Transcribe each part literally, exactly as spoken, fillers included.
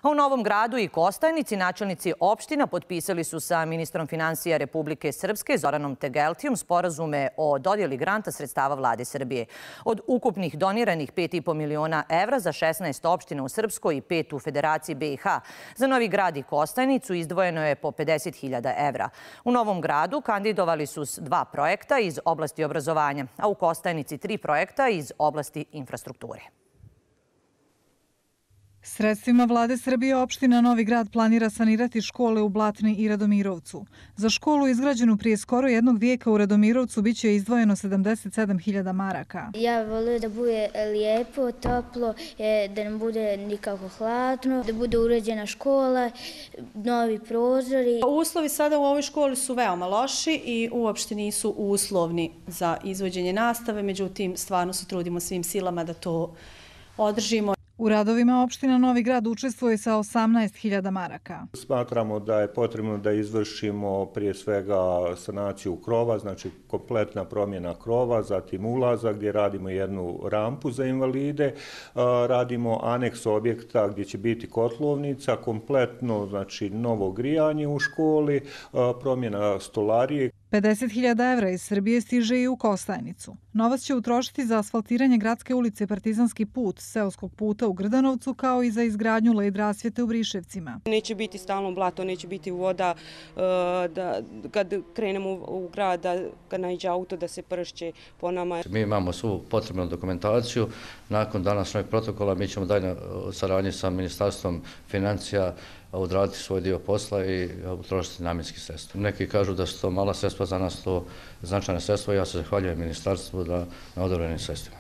A u Novom Gradu i Kostajnici načelnici opština potpisali su sa ministrom finansija Republike Srpske Zoranom Tegeltijom sporazume o dodjeli granta sredstava Vlade Srbije. Od ukupnih doniranih pet i po miliona evra za šesnaest opština u Srpskoj i pet u Federaciji B i H, za Novi Grad i Kostajnicu izdvojeno je po pedeset hiljada evra. U Novom Gradu kandidovali su dva projekta iz oblasti obrazovanja, a u Kostajnici tri projekta iz oblasti infrastrukture. Sredstvima Vlade Srbije opština Novi Grad planira sanirati škole u Blatni i Radomirovcu. Za školu izgrađenu prije skoro jednog vijeka u Radomirovcu biće izdvojeno sedamdeset sedam hiljada maraka. Ja volim da bude lijepo, toplo, da ne bude nikako hladno, da bude uređena škola, novi prozori. Uslovi sada u ovoj školi su veoma loši i uopšte nisu uslovni za izvođenje nastave, međutim stvarno se trudimo svim silama da to održimo. U radovima opština Novi Grad učestvuje sa osamnaest hiljada maraka. Smatramo da je potrebno da izvršimo prije svega sanaciju krova, znači kompletna promjena krova, zatim ulaza gdje radimo jednu rampu za invalide, radimo aneks objekta gdje će biti kotlovnica, kompletno znači novo grijanje u školi, promjena stolarije. pedeset hiljada evra iz Srbije stiže i u Kostajnicu. Novac će utrošiti za asfaltiranje gradske ulice Partizanski put, seoskog puta u Grdanovcu, kao i za izgradnju led rasvjete u Briševcima. Neće biti stalno blato, neće biti voda, da kad krenemo u grad, da kad naiđe auto da se pršće po nama. Mi imamo svu potrebnu dokumentaciju. Nakon današnjeg protokola mi ćemo dalje saradnje sa Ministarstvom financija odraditi svoj dio posla i utrošiti namjenski sredstva. Neki kažu da su to mala sredstva, za nas to značajna sredstva i ja se zahvaljujem ministarstvu da na odobrenim sredstvima.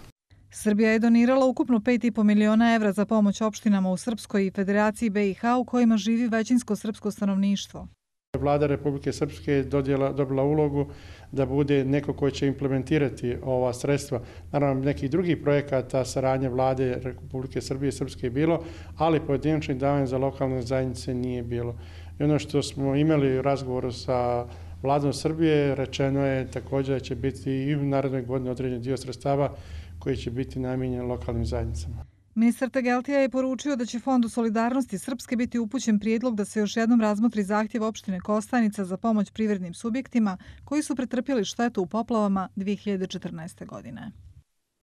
Srbija je donirala ukupno pet i po miliona evra za pomoć opštinama u Srpskoj i Federaciji B i H u kojima živi većinsko srpsko stanovništvo. Vlada Republike Srpske je dobila ulogu da bude neko koji će implementirati ova sredstva. Naravno, nekih drugih projekata saradnje Vlade Republike Srbije i Srpske je bilo, ali pojedinačnih davanja za lokalne zajednice nije bilo. I ono što smo imali u razgovoru sa Vladom Srbije, rečeno je također da će biti i u narednoj godini određen dio sredstava koji će biti namijenjen lokalnim zajednicama. Ministar Tegeltija je poručio da će Fondu solidarnosti Srpske biti upućen prijedlog da se još jednom razmotri zahtjev opštine Kostajnica za pomoć privrednim subjektima koji su pretrpjeli štetu u poplavama dvije hiljade četrnaeste. godine.